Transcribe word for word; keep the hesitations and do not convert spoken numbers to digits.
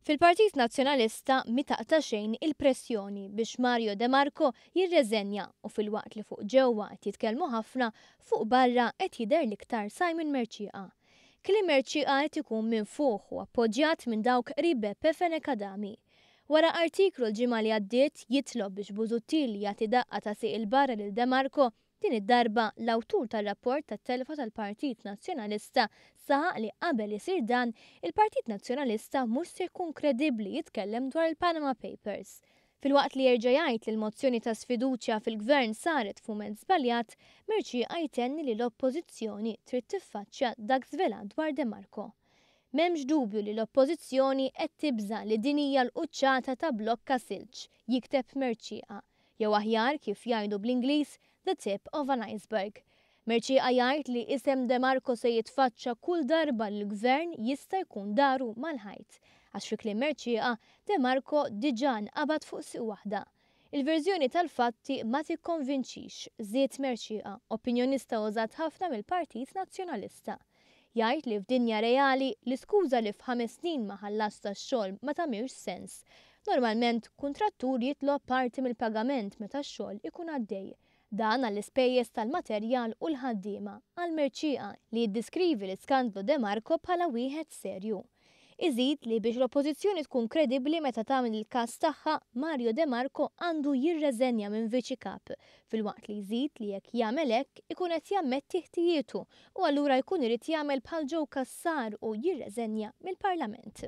Fil-Partit Nazzjonalista mi taqta' xejn il-pressjoni biex Mario De Marco jirreżenja u filwaqt li fuq ġewwa qed jitkellmu ħafna, fuq barra qed jidher l-iktar Simon Mercieca. Kliem Mercieca qed ikun minfuħ u appoġġjat minn dawk qrib Beppe Fenech Adami. Wara artiklu l-ġimgħa li għaddiet jitlob biex Busuttil jagħti daqqa ta' sieq 'il barra lil De Marco, din id-darba l-awtur tar-rapport tat-telfa tal-Partit Nazzjonalista saħaq li qabel isir dan, il-Partit Nazzjonalista mhux se jkun kredibbli jitkellem dwar il-Panama Papers. Filwaqt li jerġa' jgħid li l-mozzjoni ta' sfiduċja fil-gvern saret f'mument żbaljat, Mercieca jtenni li l-oppożizzjoni trid tiffaċċja dak żvelat dwar De Marco. M'hemmx dubju li l-oppożizzjoni qed tibża' li din hija l-quċċata ta' blokka silġ, jikteb Mercieca. Jew aħjar kif jgħidu bl-Ingliż, the tip of an iceberg. Mercieca jgħid li isem De Marco se jitfaċċa kull darba li l-gvern jista' jkun daru mal-ħajt. Għax fi kliem Mercieca, De Marco diġà nqabad fuq sieq waħda. Il-verżjoni tal-fatti ma tikkonvinċix, żied Mercieca, opinjonista użat ħafna mill-Partit Nazzjonalista. Jgħid li f'dinja reali l-iskuża li f'ħames snin ma ħallas tax-xogħol ma tagħmilx sens. Normalment, kuntrattur jitlob parti mill-pagament meta x-xogħol ikun għaddej. Dan għall-ispejjeż tal-materjal u l-ħaddiema, qal Mercieca li jiddiskrivi l-iskandlu De Marco bħala wieħed serju. Iżid li biex l-oppożizzjoni tkun kredibbli meta tagħmel il-każ tagħha, Mario De Marco għandu jirreżenja minn viċi kap, filwaqt li jżid li jekk jagħmel hekk ikun qed jammetti ħtijietu u allura jkun irid jagħmel bħal Joe Cassar u jirreżenja mill-Parlament.